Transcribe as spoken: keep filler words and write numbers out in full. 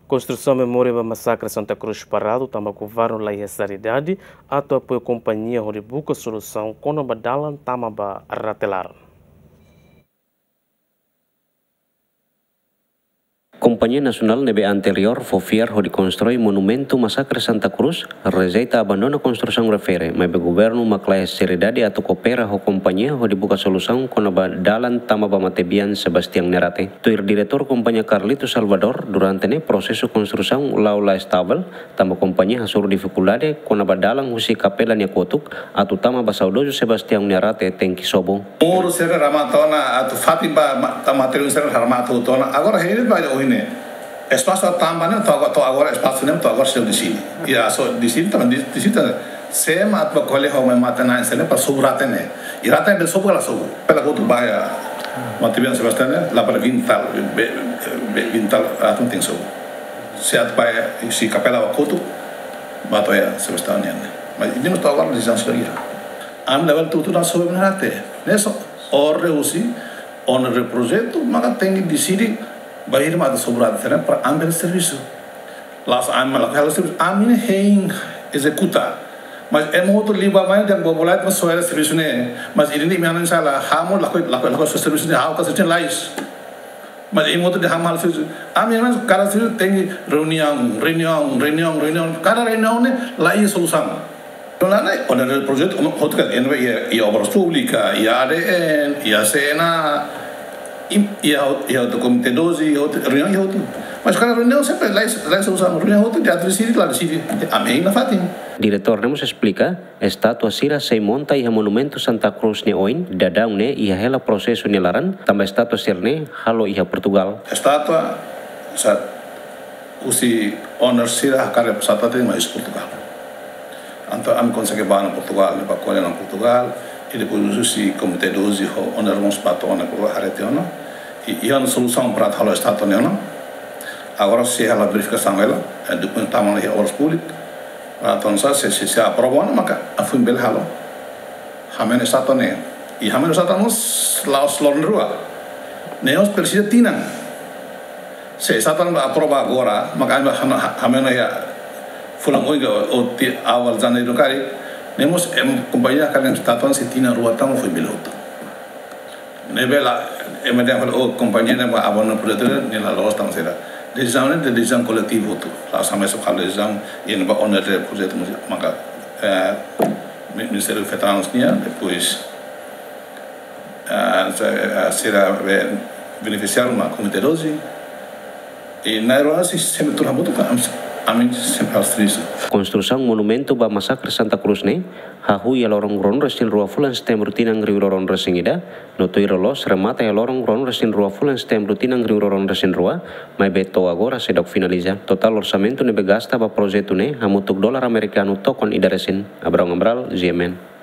Konstrusaun memória ba masakre Santa Cruz paradu tanba governu la iha seriedade atu apoia kompañia hodi buka solusaun kona-ba dalan tama ba rate laran. Kompañia nasionál ne'ebé anteriór fó fiar hodi konstrui monumentu masakre Santa Cruz rejeita abandona konstrusaun refere, maibé governu mak la iha seriedade atu koopera ho kompañia hodi buka solusaun kona-ba dalan tama ba matebian Sebastião nia rate. Tuir diretór kompañia Carlito Salvador, durante ne'e prosesu konstrusaun la'o la estavel, tanba kompañia hasoru difikuldade kona-ba dalan husi kapela nia kotuk atu tama ba saudozu Sebastião nia rate tenke sobu. Muru sira remata ona, atu fatin ba ma-, ta materiál sira remata ona. Agora, hei ba ohin ne'e. Espasu tamba ne'e, to'o agora, to'o agora espasu ne'e, to'o agora sira deside. Iha so deside, tanba deside, sé mak atu ba ko'alia ho mai matebian sira ne'e para sobu rate ne'e. I rate ne'e bele sobu ka la sobu. Pela kotuk ba iha matebian Sebastião ne'e, la para vintal, be, be, vintal, atu tenke sobu. Se atu ba iha, se kapela ba kotuk, ba to'o iha Sebastião nian ne'e. Mas ida-ne'e to'o agora desizaun sira iha. Ami labele tutu na sobu na rate. Ne'e só, orde husi, owner projetu, maka tenke deside, bainhira mak atu sobu rate ne'e para ami bele servisu. La'ós ami mak lakohi halo servisu, ami ne'e hein ezekuta. Mas ema hotu liu ba mai dehan bobo lai mak soe servisu ne'e. Mas ida-ne'e ami-nia sala, ha'u mós lakohi, lakohi, lakohi soe servisu ne'e, ha'u ka servisu ne'e lais. Mas ema hotu dehan ha'u mak halo servisu. Ami ne'e kada servisu tenke reuniaun, reuniaun, reuniaun, reuniaun. Kada reuniaun ne'e la iha solusaun. Nune'e, owner projetu, owner hotu ka, iha, iha Obras Públikas, iha A D N, iha C N A, i, iha, iha hotu Komité doze, iha hotu, reuniaun iha hotu. Mas kada reuniaun sempre la iha, la iha solusaun, reuniaun hotu dehan atu deside, la deside. Ami hein nafatin. Diretór ne'e mós esplika, estátua sira sei monta iha monumentu Santa Cruz ne'e oin, daudaun ne'e iha hela prosesu nia laran, tanba estátua sira-ne'e halo iha Portugal. Estátua, sa, husi owner sira hakarak estátua tenke mai husi Portugal. Entaun ami konsege ba ona Portugal, ne'e ba ko'alia ona Portugal, i depois husi Komité doze ho owner mós ba to'o ona, haree tiha ona. I, iha ona solusaun para atu halo estátua ne'e ona. Agora sei halo verifikasaun hela, eh, dokumentu tama ona iha Obras Públikas. Entaun sa, se, se, se aprova ona maka atu bele halo. Ha'u-nia estátua ne'e. I ha'u-nia estátua mós la'ós loron rua. Ne'e mós presiza tinan. Se estátua ne'e aprova agora, maka ami ha'u-nia, ha-, ha'u-nia iha fulan oin ka ou tiha awal janeiru karik. Ne'e mós ema kompañia hakarak estátua sei tinan rua tama fó bele hotu. Ne'ebé la, ema dehan fali, oh, kompañia ne'e mak abandona projetu ne'e, nia la loos tanba saida. Desizaun ne'e desizaun koletivu hotu. La'ós ami só halo desizaun, i ne'e ba owner projetu mós, maka, eh, Mi-, Ministériu Veteranus nian, depois, eh, se-, eh, sira be-, benefisiáriu mak Komité doze. I na'in-rua sei, sempre tuur hamutuk ka, ami, ami sempre halo servisu. Konstrusaun monumentu ba masakre Santa Cruz ne'e hahú iha loron ruanulu-resin-rua fulan Setembru tinan rihun rua ruanulu-resin-ida, no tuir loloos remata iha loron ruanulu-resin-rua fulan Setembru tinan rihun rua ruanulu-resin-rua, maibé to'o agora seidauk finaliza. Totál orsamentu ne'ebé gasta ba projetu ne'e hamutuk dolar amerikanu tokon ida resin. Abraão Amaral, G M N.